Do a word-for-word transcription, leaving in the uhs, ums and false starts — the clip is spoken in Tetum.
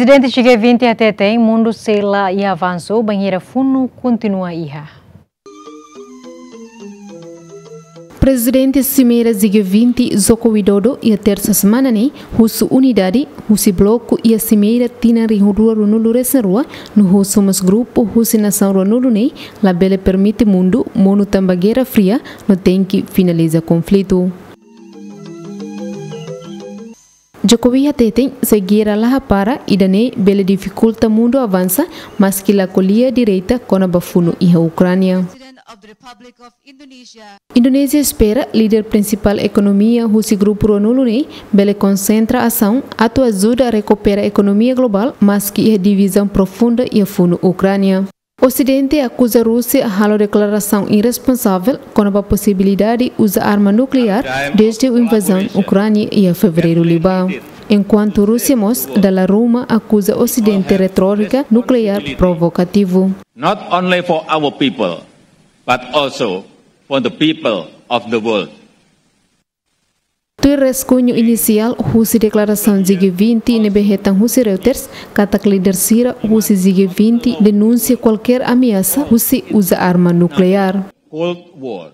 Prezidente G vinte hateten mundu sei la iha avansu bainhira funu kontinua iha. Prezidente Simeira G vinte, Joko Widodo, iha tersa semana ne'e husu unidade husi bloku iha Simeira tinan rihun rua ruanulu resin rua, no husu mós grupu husi nasaun ruanulu ne'e labele permite mundu monu tanba Guerra Fria, no tenke finaliza konflitu. Jokowi hateten, se guerra la hapara, ida-ne'e bele difikulta mundu avansa, maski la ko'alia direta kona-ba funu iha Ukránia. Indonézia espera líder prinsipál ekonomia husi grupu ruanulu ne'e bele konsentra asaun atu ajuda rekupera ekonomia globál, maski iha divizaun profunda iha funu Ukránia. Osidente akuza Rúsia halo deklarasaun irresponsavel kona-ba posibilidade uza arma nukleár dezde invazaun Ukránia iha fevereiru liubá. Enkuantu Rúsia mós dala ruma akuza Osidente retórika nukleár provokativu. Not only for our people, but also for the people of the world. Tuir raskuñu inisiál husi deklarasaun G vinte ne'ebé hetan husi Reuters, katak líder sira husi G vinte denunsia kualkér ameasa husi uza arma nukleár. Cold War